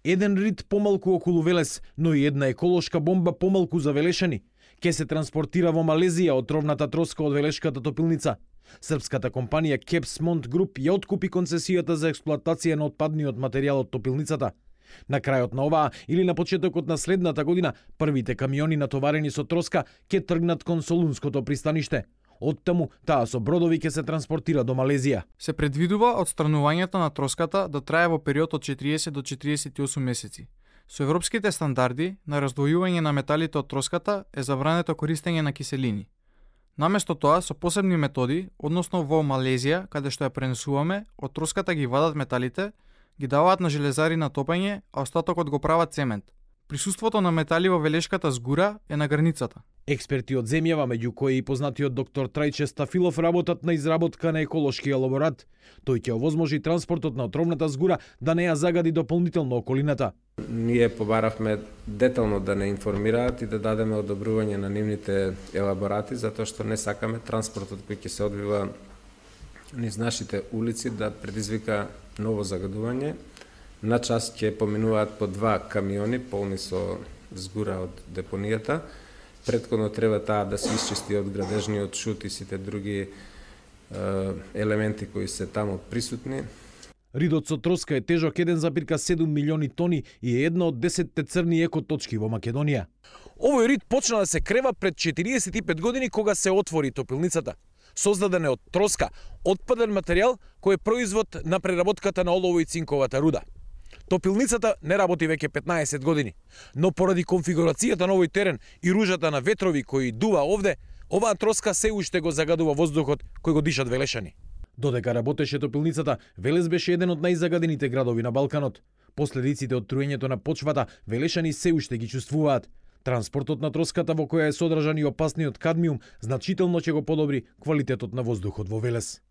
Еден рид помалку околу Велес, но и една еколошка бомба помалку за Велешани. Ке се транспортира во Малезија отровната троска од Велешката топилница. Српската компанија Кепсмонт Груп ја откупи концесијата за експлоатација на отпадниот материјал од топилницата. На крајот на оваа или на почетокот на следната година, првите камиони натоварени со троска ќе тргнат кон Солунското пристаниште. Оттаму таа со бродови ќе се транспортира до Малезија. Се предвидува отстранувањето на троската да трае во период од 40 до 48 месеци. Со европските стандарди на раздвојување на металите од троската е забрането користење на киселини. Наместо тоа, со посебни методи, односно во Малезија, каде што ја пренесуваме, од троската ги вадат металите, ги даваат на железари на топење, а остатокот го прават цемент. Присуството на метали во Велешката згура е на границата. Експерти од земјава, меѓу кои и познатиот доктор Трајче Стафилов, работат на изработка на еколошки елаборат. Тој ќе овозможи транспортот на отровната згура да не ја загади дополнително околината. Ние побаравме детално да не информираат и да дадеме одобрување на нивните елаборати, затоа што не сакаме транспортот кој ќе се одвива низ нашите улици да предизвика ново загадување. На час ќе поминуваат по 2 камиони полни со згура од депонијата. Претходно треба таа да се исчисти од градежниот шут и сите други елементи кои се таму присутни. Ридот со троска е тежок 1,7 милиони тони и е една од 10 црни екоточки во Македонија. Овој рид почна да се крева пред 45 години кога се отвори топилницата. Создаден е од троска, отпаден материјал кој е производ на преработката на олово и цинковата руда. Топилницата не работи веќе 15 години, но поради конфигурацијата на овој терен и ружата на ветрови кои дува овде, оваа троска се уште го загадува воздухот кој го дишат Велешани. Додека работеше топилницата, Велес беше еден од најзагадените градови на Балканот. Последиците од труењето на почвата Велешани се уште ги чувствуваат. Транспортот на троската во која е содржан и опасниот кадмиум значително ќе го подобри квалитетот на воздухот во Велес.